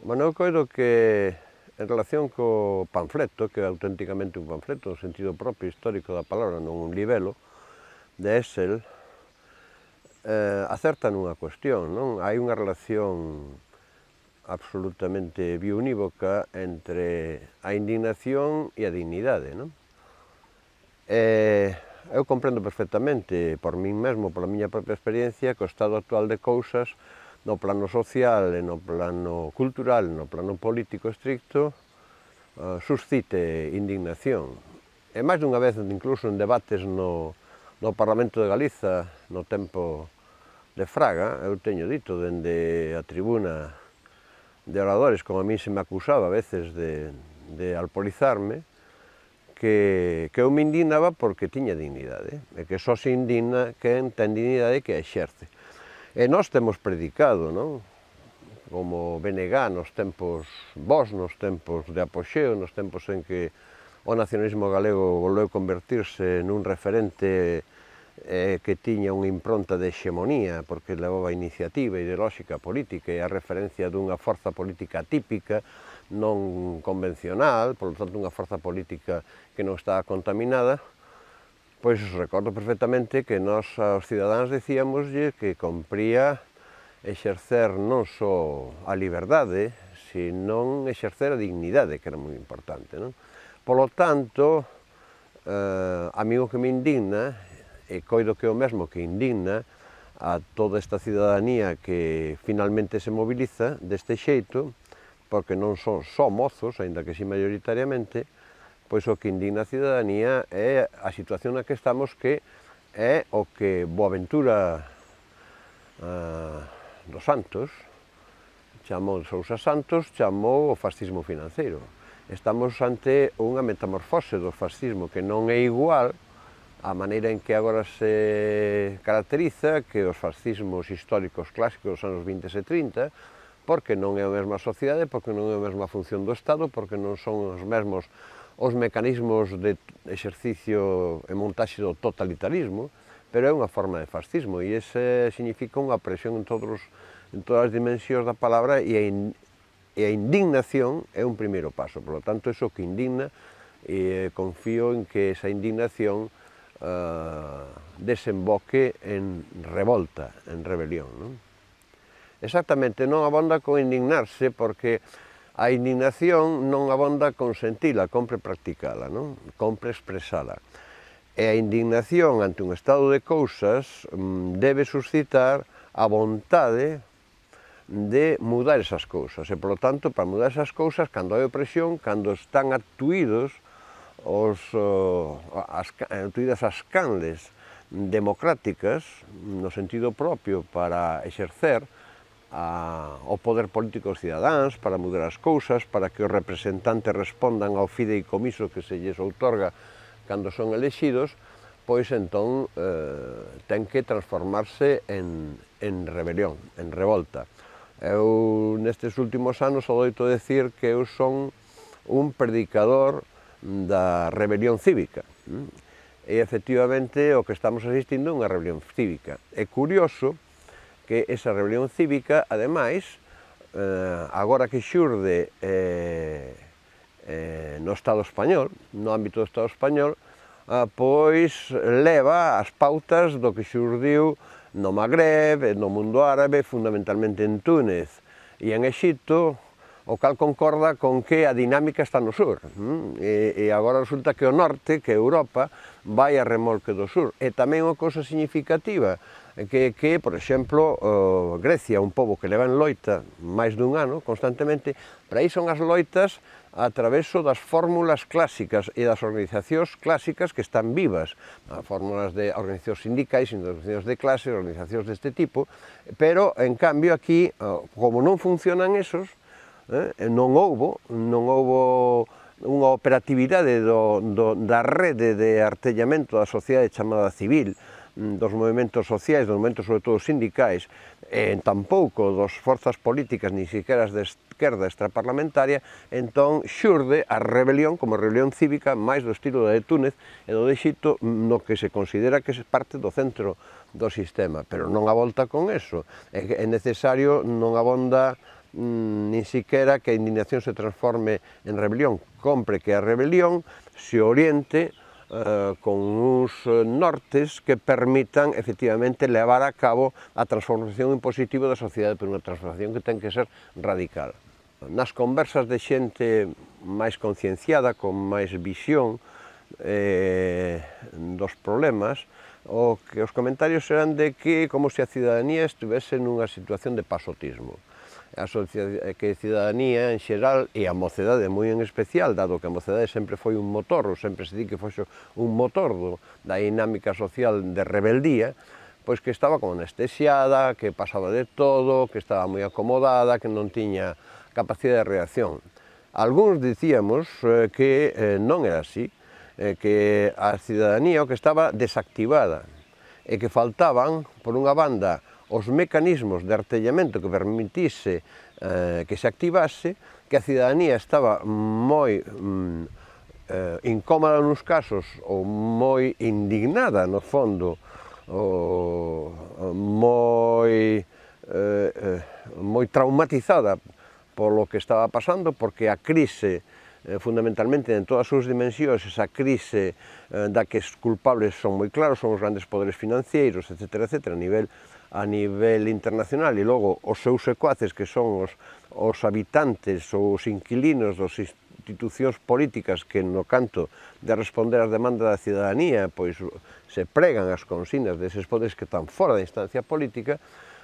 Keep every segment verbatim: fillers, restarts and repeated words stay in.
Bueno, eu coido que en relación co panfleto, que é auténticamente un panfleto no sentido propio histórico da palabra, non un libelo, de Hessel, eh, acerta nunha cuestión, non? Hai unha relación absolutamente biunívoca entre a indignación e a dignidade, non? E eu comprendo perfectamente, por min mesmo, pola miña propia experiencia, que o estado actual de cousas no plano social e no plano cultural, no plano político estricto, uh, suscite indignación. E máis dunha vez, incluso en debates no, no Parlamento de Galiza, no tempo de Fraga, eu teño dito dende a tribuna de oradores, como a mí se me acusaba a veces de, de alpolizarme, que, que eu me indignaba porque tiña dignidade, e que só se indigna quen ten dignidade que a exerce. E nós temos predicado, non? Como B N G nos tempos vos, nos tempos de apoxeo, nos tempos en que o nacionalismo galego volveu convertirse nun referente eh, que tiña unha impronta de hexemonía, porque levaba a iniciativa ideolóxica política e a referencia dunha forza política típica, non convencional, por lo tanto unha forza política que non estaba contaminada. Pois recordo perfectamente que nós aos cidadáns dicíamoslle que compría exercer non só a liberdade, senón exercer a dignidade, que era moi importante, non? Polo tanto, eh, a mí o que me indigna, e coido que é o mesmo que indigna a toda esta cidadanía que finalmente se moviliza deste xeito, porque non son só mozos, aínda que si maioritariamente, pois o que indigna a cidadanía é a situación na que estamos, que é o que Boaventura uh, dos Santos chamou, Sousa Santos chamou o fascismo financeiro. Estamos ante unha metamorfose do fascismo que non é igual a maneira en que agora se caracteriza que os fascismos históricos clásicos dos anos vinte e trinta, porque non é a mesma sociedade, porque non é a mesma función do Estado, porque non son os mesmos os mecanismos de exercicio e montaxe do totalitarismo, pero é unha forma de fascismo e ese significa unha presión en, todos, en todas as dimensións da palabra e a, in, e a indignación é un primeiro paso. Por lo tanto, eso que indigna, e confío en que esa indignación uh, desemboque en revolta, en rebelión, non? Exactamente, non abonda con indignarse, porque a indignación non abonda con sentila, compre practicala, non? Compre expresala. E a indignación ante un estado de cousas debe suscitar a vontade de mudar esas cousas. E, polo tanto, para mudar esas cousas, cando hai opresión, cando están actuídos os, as, actuídas as canles democráticas, no sentido propio, para exercer A, o poder político dos cidadáns, para mudar as cousas, para que os representantes respondan ao fideicomiso que se lles outorga cando son elexidos, pois entón eh, ten que transformarse en, en rebelión, en revolta. Eu nestes últimos anos o doito decir que eu son un predicador da rebelión cívica. E efectivamente o que estamos asistindo é unha rebelión cívica. É curioso que esa rebelión cívica, ademais, eh, agora que xurde eh, eh, no Estado español, no ámbito do Estado español, eh, pois leva as pautas do que xurdiu no Magreb, no mundo árabe, fundamentalmente en Túnez e en Exipto, o cal concorda con que a dinámica está no sur. E, e agora resulta que o norte, que Europa, vai a remolque do sur. E tamén unha cousa significativa, que, que por exemplo, uh, Grecia, un pobo que leva en loita máis dun ano, constantemente, para aí son as loitas a traveso das fórmulas clásicas e das organizacións clásicas que están vivas, as fórmulas de organizacións sindicais, organizacións de clase, organizacións deste tipo, pero, en cambio, aquí, uh, como non funcionan esos, eh, non houbo, non houbo unha operatividade do, do, da rede de artellamento da sociedade chamada civil, dos movimentos sociais, dos movimentos sobre todo sindicais, e tampouco dos forzas políticas, ni siquiera as de esquerda extraparlamentaria, entón xurde a rebelión como rebelión cívica máis do estilo da de Túnez e do de Exipto, no que se considera que é parte do centro do sistema, pero non a volta con eso. É necesario, non abonda nin siquiera que a indignación se transforme en rebelión. Compre que a rebelión se oriente eh, con uns nortes que permitan efectivamente levar a cabo a transformación impositiva da sociedade, pero unha transformación que ten que ser radical. Nas conversas de xente máis concienciada, con máis visión eh, dos problemas, o que os comentarios eran de que como se a cidadanía estivese nunha situación de pasotismo. A que a cidadanía en xeral e a mocedade moi en especial, dado que a mocedade sempre foi un motor, ou sempre se di que foi un motor do, da dinámica social de rebeldía, pois que estaba como anestesiada, que pasaba de todo, que estaba moi acomodada, que non tiña capacidade de reacción. Algúns dicíamos eh, que eh, non era así, eh, que a cidadanía o que estaba desactivada e que faltaban, por unha banda, os mecanismos de artellamento que permitise eh, que se activase, que a cidadanía estaba moi mm, eh, incómoda nos casos ou moi indignada no fondo, ou moi, eh, eh, moi traumatizada polo que estaba pasando, porque a crise, eh, fundamentalmente en todas as súas dimensións, esa crise eh, da que os culpables son moi claros, son os grandes poderes financeiros, etcétera, etcétera, a nivel, a nivel internacional, e logo os seus secuaces, que son os, os habitantes ou os inquilinos das institucións políticas que no canto de responder ás demandas da cidadanía, pois se pregan as consignas deses poderes que están fora da instancia política.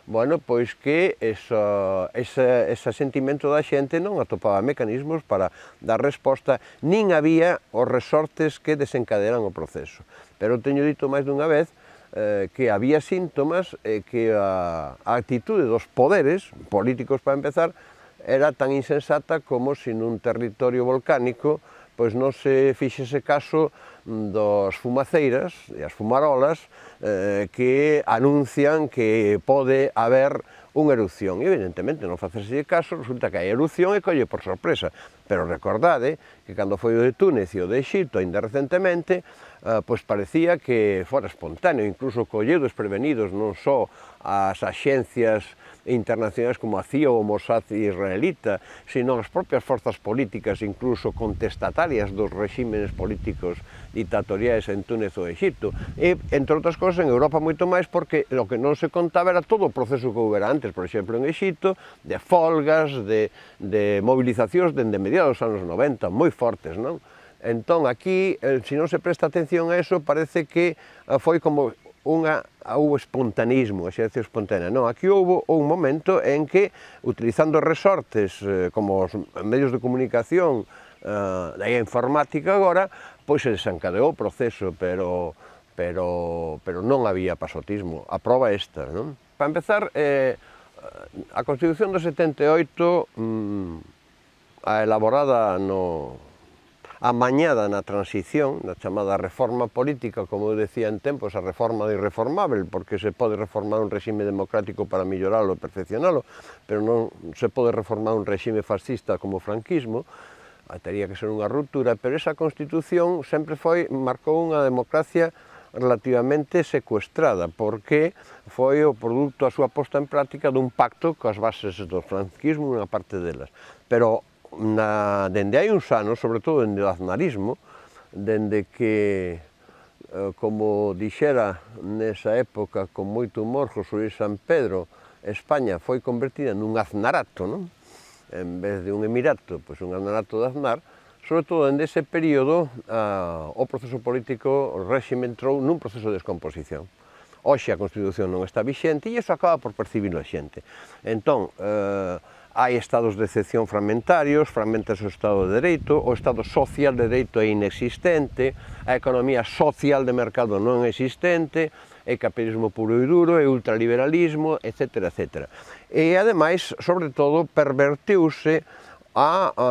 Bueno, pois que esa, ese, ese sentimento da xente non atopaba mecanismos para dar resposta, nin había os resortes que desencaderan o proceso. Pero teño dito máis dunha vez eh, que había síntomas e que a, a actitude dos poderes políticos, para empezar, era tan insensata como se nun territorio volcánico pois non se fixese caso dos fumaceiras e as fumarolas eh, que anuncian que pode haber unha erupción. E, evidentemente, non facerse caso, resulta que hai erupción e colle por sorpresa. Pero recordade que cando foi o de Túnez e o de Egipto, ainda recentemente, eh, pois parecía que fora espontáneo, incluso colleu desprevenidos non só as axencias internacionais como a C I A ou o Mossad israelita, sino as propias forzas políticas, incluso contestatarias dos regímenes políticos dictatoriais en Túnez ou Egipto. E, entre outras cosas, en Europa moito máis, porque o que non se contaba era todo o proceso que houbera antes, por exemplo, en Egipto, de folgas, de, de movilizacións dende mediados dos anos noventa, moi fortes, non? Entón, aquí, se non se presta atención a eso, parece que foi como unha, houve espontaneismo, a xercia espontánea. Non, aquí houve un momento en que, utilizando resortes eh, como os medios de comunicación eh, da informática agora, pois se desencadeou o proceso, pero, pero, pero non había pasotismo. A proba esta, non? Para empezar, eh, a Constitución do setenta e oito, mm, a elaborada no... amañada na transición, na chamada reforma política, como eu decía en tempos, a reforma do irreformável, porque se pode reformar un regime democrático para melloralo e perfeccionalo, pero non se pode reformar un regime fascista como o franquismo, tería que ser unha ruptura, pero esa Constitución sempre foi, marcou unha democracia relativamente secuestrada, porque foi o produto a súa posta en práctica dun pacto coas bases do franquismo, unha parte delas. Pero Na, dende hai uns anos, sobre todo dende o aznarismo, dende que, eh, como dixera nesa época con moito humor José Luis San Pedro, España foi convertida nun aznarato, non? En vez de un emirato, pois un aznarato de Aznar, sobre todo dende ese período a, o proceso político, o réxime entrou nun proceso de descomposición. Hoxe a Constitución non está vixente e iso acaba por percibirlo a xente. Entón, eh, hai estados de excepción fragmentarios, fragmentase o Estado de Dereito, o Estado social de Dereito é inexistente, a economía social de mercado non é existente, é capitalismo puro e duro, é ultraliberalismo, etcétera, etcétera. E, ademais, sobre todo, perverteuse a, a,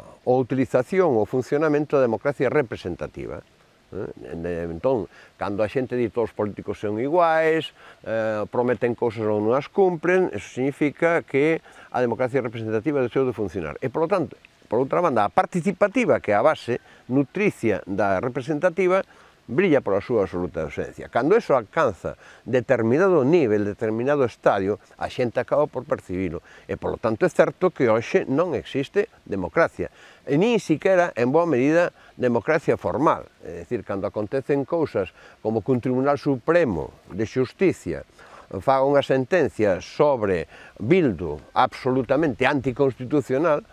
a utilización ou funcionamento da democracia representativa. Entón, cando a xente di todos os políticos son iguais, eh, prometen cousas ou non as cumpren, eso significa que a democracia representativa deixou de funcionar. E, por lo tanto, por outra banda, a participativa, que é a base nutricia da representativa, brilla pola súa absoluta ausencia. Cando eso alcanza determinado nivel, determinado estadio, a xente acaba por percibilo. E, polo tanto, é certo que hoxe non existe democracia. E nin siquiera, en boa medida, democracia formal. É dicir, cando acontecen cousas como que un Tribunal Supremo de Xusticia faga unha sentencia sobre Bildu absolutamente anticonstitucional,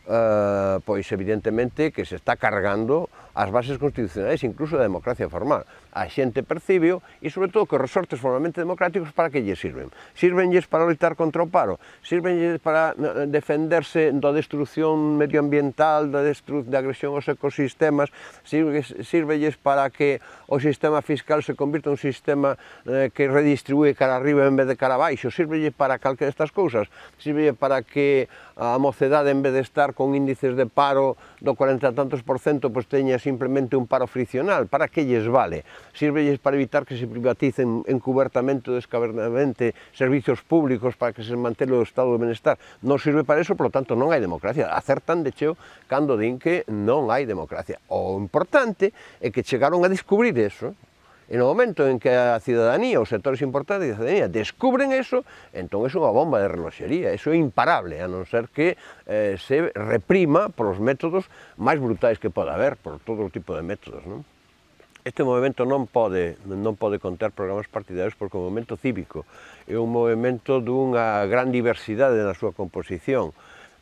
Uh, pois evidentemente que se está cargando as bases constitucionais, incluso da democracia formal. A xente percibio e, sobre todo, que os resortes formalmente democráticos para que lles sirven? Sirvenlles para loitar contra o paro? Sirvenlles para defenderse da destrucción medioambiental, da, destru da agresión aos ecosistemas? Sirvenlles para que o sistema fiscal se convirta en un sistema eh, que redistribúe cara arriba en vez de cara abaixo? Sirvenlles para calquera destas cousas? Sirvenlles para que a mocedade, en vez de estar con índices de paro do cuarenta e tantos por cento, pois teña simplemente un paro friccional? Para que lles vale? Sirvelles para evitar que se privaticen encubertamente ou descabernadamente servicios públicos para que se mantele o estado de benestar? Non sirve para eso, por lo tanto non hai democracia. Acertan de cheo cando din que non hai democracia. O importante é que chegaron a descubrir eso. E no momento en que a cidadanía, os sectores importantes da cidadanía descubren eso, entón é unha bomba de reloxería, eso é imparable, a non ser que eh, se reprima polos métodos máis brutais que poda haber, por todo tipo de métodos, non? Este movimento non pode, non pode conter programas partidarios porque o movimento cívico é un movimento dunha gran diversidade na súa composición.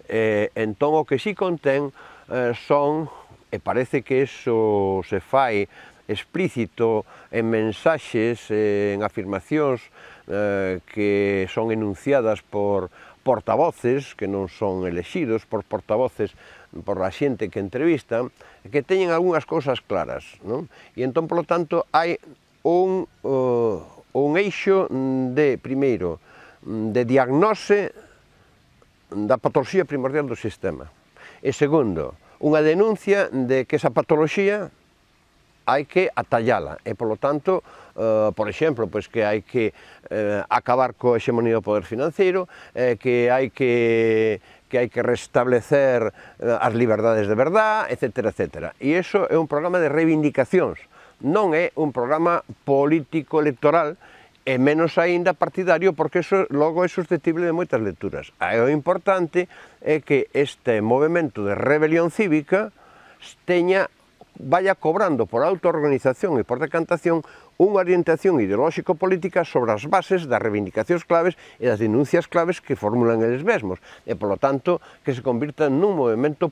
Eh, entón o que si contén eh, son, e parece que eso se fai explícito en mensaxes, en afirmacións eh, que son enunciadas por portavoces, que non son elexidos, por portavoces, por a xente que entrevistan, que teñen algunhas cousas claras, non? E entón, polo tanto, hai un, uh, un eixo de, primeiro, de diagnose da patoloxía primordial do sistema. E segundo, unha denuncia de que esa patoloxía hai que atallala e, polo tanto, eh, por exemplo, pois que hai que eh, acabar coa hexemonía do poder financeiro, eh, que hai que que hai que restablecer eh, as liberdades de verdad, etcétera, etcétera. E iso é un programa de reivindicacións, non é un programa político-electoral, e menos aínda partidario, porque eso logo é susceptible de moitas lecturas. E o importante é que este movimento de rebelión cívica teña vaya cobrando por autoorganización e por decantación unha orientación ideolóxico-política sobre as bases das reivindicacións claves e das denuncias claves que formulan eles mesmos, e, polo tanto, que se convirta nun movimento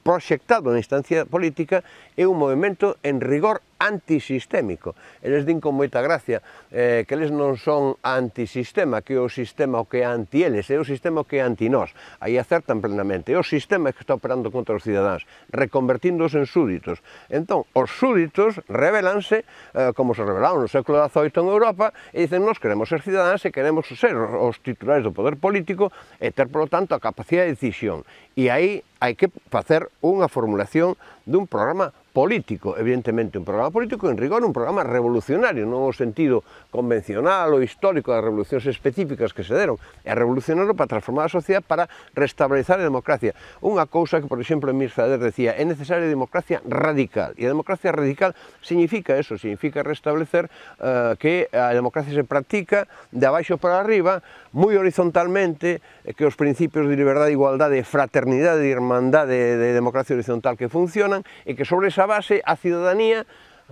proxectado na instancia política e un movimento en rigor antisistémico. Eles din con moita gracia eh, que eles non son antisistema, que é o sistema o que é anti eles, é o sistema o que é anti nós. Aí acertan plenamente. É o sistema que está operando contra os cidadáns, reconvertíndoos en súditos. Entón, os súditos rebelanse, eh, como se rebelaron no século dezoito en Europa, e dicen, nós queremos ser cidadáns e queremos ser os titulares do poder político e ter, polo tanto, a capacidade de decisión. E aí hai que facer unha formulación dun programa político, evidentemente un programa político en rigor, un programa revolucionario, non o sentido convencional ou histórico das revolucións específicas que se deron, é revolucionario para transformar a sociedade, para restablecer a democracia. Unha cousa que, por exemplo, Emir Sader decía, é necesaria a democracia radical, e a democracia radical significa eso, significa restablecer uh, que a democracia se practica de abaixo para arriba, moi horizontalmente, que os principios de liberdade, igualdade, fraternidade e irmandade de democracia horizontal que funcionan, e que sobre esa base a cidadanía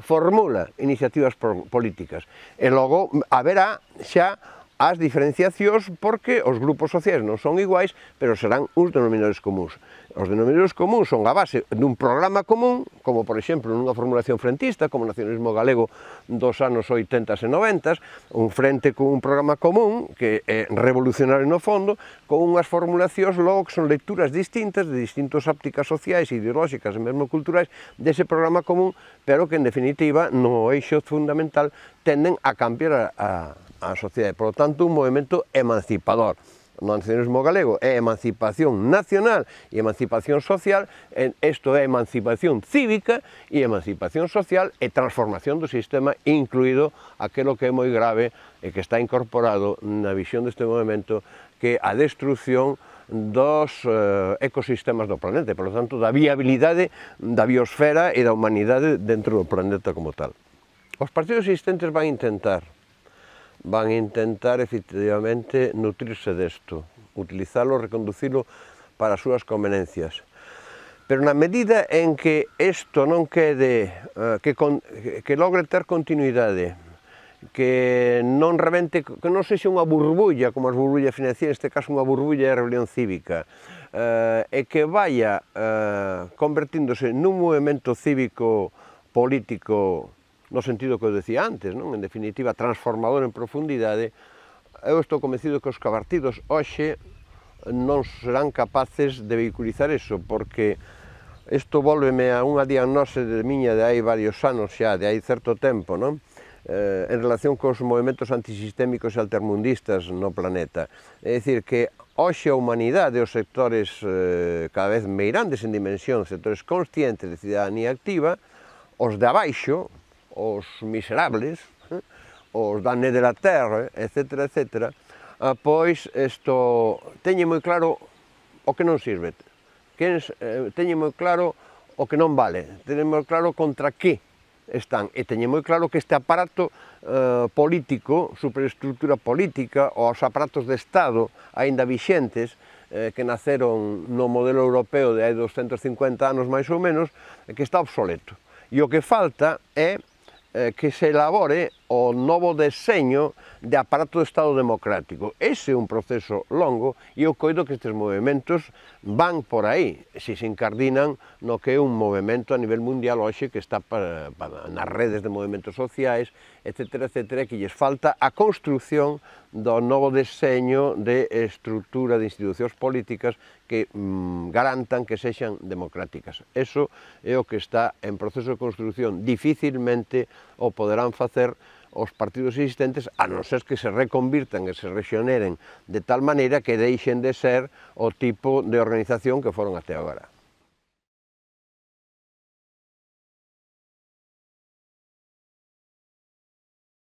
formula iniciativas políticas. E logo haberá xa as diferenciacións porque os grupos sociais non son iguais, pero serán uns denominadores comuns. Os denominadores comuns son a base dun programa común, como por exemplo nunha formulación frentista, como o nacionalismo galego dos anos oitentas e noventas, un frente con un programa común, que é revolucionario no fondo, con unhas formulacións logo que son lecturas distintas, de distintas ópticas sociais, ideolóxicas e mesmo culturais, dese programa común, pero que en definitiva no eixo fundamental tenden a cambiar a, a, a sociedade. Por lo tanto, un movimento emancipador. No nacionalismo galego é emancipación nacional e emancipación social, isto é emancipación cívica e emancipación social e transformación do sistema, incluído aquilo que é moi grave e que está incorporado na visión deste movimento, que é a destrucción dos eh, ecosistemas do planeta, e, por lo tanto, da viabilidade da biosfera e da humanidade dentro do planeta como tal. Os partidos existentes van a intentar, van a intentar efectivamente nutrirse desto, utilizalo, reconducilo para as súas convenencias. Pero na medida en que isto non quede, que, que logre ter continuidade, que non rebente, que non sexa unha burbulla, como as burbullas financieras, neste caso unha burbulla de rebelión cívica, eh, e que vaya eh, convertíndose nun movimento cívico político no sentido que eu decía antes, non? En definitiva, transformador en profundidade, eu estou convencido que os partidos hoxe non serán capaces de vehiculizar iso, porque isto volveme a unha diagnose de miña de hai varios anos xa, de hai certo tempo, non? Eh, en relación cos movimentos antisistémicos e altermundistas no planeta. É dicir, que hoxe a humanidade, os sectores eh, cada vez meirandes en dimensión, sectores conscientes de cidadanía activa, os de abaixo, os miserables, eh, os da né de la terra, etcétera, etcétera, eh, pois isto teñe moi claro o que non sirve. Teñen moi claro o que non vale, teñen moi claro contra que están, e teñen moi claro que este aparato eh, político, superestructura política, ou os aparatos de Estado aínda vixentes, eh, que naceron no modelo europeo de hai doscentos cincuenta anos máis ou menos, que está obsoleto. E o que falta é eh, que se elabore o novo deseño de aparato de Estado democrático. Ese é un proceso longo e eu coido que estes movimentos van por aí, se se encardinan no que é un movimento a nivel mundial hoxe que está para, para, nas redes de movimentos sociais, etcétera, etcétera, que lles falta a construción do novo deseño de estrutura de institucións políticas que mm, garantan que sexan democráticas. Eso é o que está en proceso de construción. Dificilmente o poderán facer os partidos existentes, a non ser que se reconvirtan e se rexioneren de tal maneira que deixen de ser o tipo de organización que foron até agora.